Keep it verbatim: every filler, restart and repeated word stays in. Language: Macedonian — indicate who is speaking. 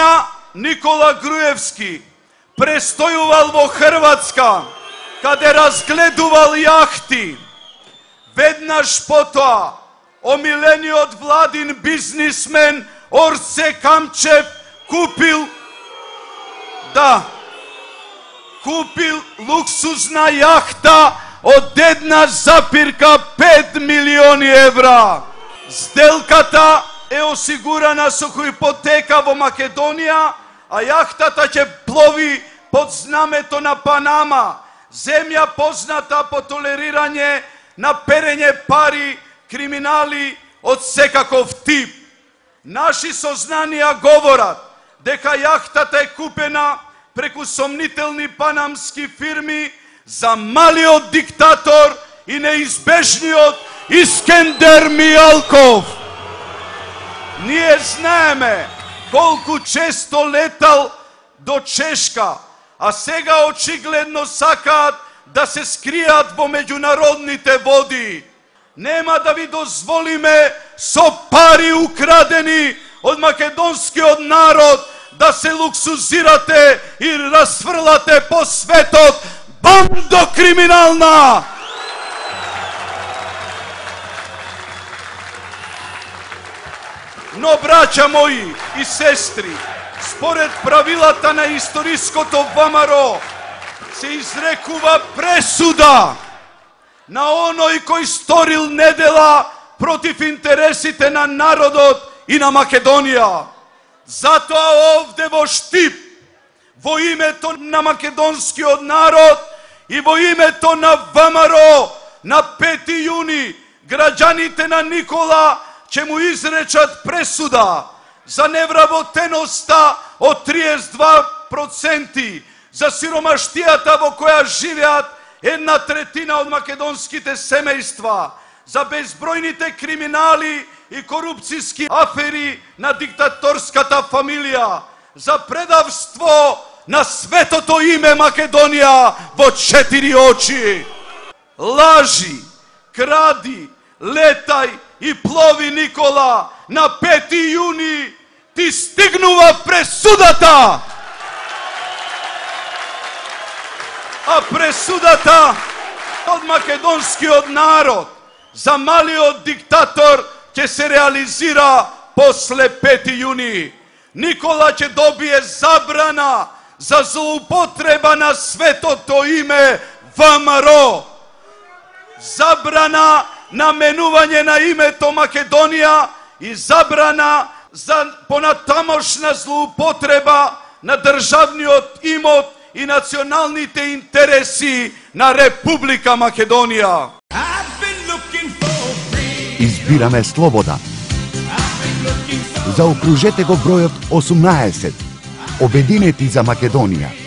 Speaker 1: дена Никола Груевски престојувал во Хрватска, каде разгледувал јахти. Веднаш потоа, омилениот владин бизнисмен Орце Камчев купил, да, купил луксузна јахта од една запирка пет милиони евра. Сделката е осигурана со ипотека во Македонија, а јахтата ќе плови под знамето на Панама, земја позната по толерирање на перење пари, криминали од секаков тип. Наши сознанија говорат дека јахтата е купена преку сомнителни панамски фирми за малиот диктатор и неизбежниот Искендер Мијалков. Ние знаеме колку често летал до Чешка, а сега очигледно сакаат да се скријат во меѓународните води. Нема да ви дозволиме со пари украдени од македонскиот народ да се луксузирате и расфрлате по светот. Бандо криминална! Но, браќа мои и сестри, според правилата на историското ВМРО, се изрекува пресуда на оној кој сторил недела против интересите на народот и на Македонија. Затоа овде во Штип, во името на македонскиот народ и во името на ВМРО, на пети јуни, граѓаните на Никола ќе му изречат пресуда за невработеноста од триесет и два проценти, за сиромаштијата во која живеат една третина од македонските семејства, за безбројните криминали и корупцијски афери на диктаторската фамилија, за предавство на светото име Македонија во четири очи. Лажи, кради, летај и плови, Никола, на пети јуни ти стигнува пресудата. А пресудата од македонскиот народ за малиот диктатор ќе се реализира после пети јуни. Никола ќе добие забрана за злоупотреба на светото име ВМРО. Забрана на менување на името Македонија и забрана за понатамошна злоупотреба на државниот имот и националните интереси на Република Македонија.
Speaker 2: Избираме слобода. Заокружете го бројот осумнаесет. Обединети за Македонија.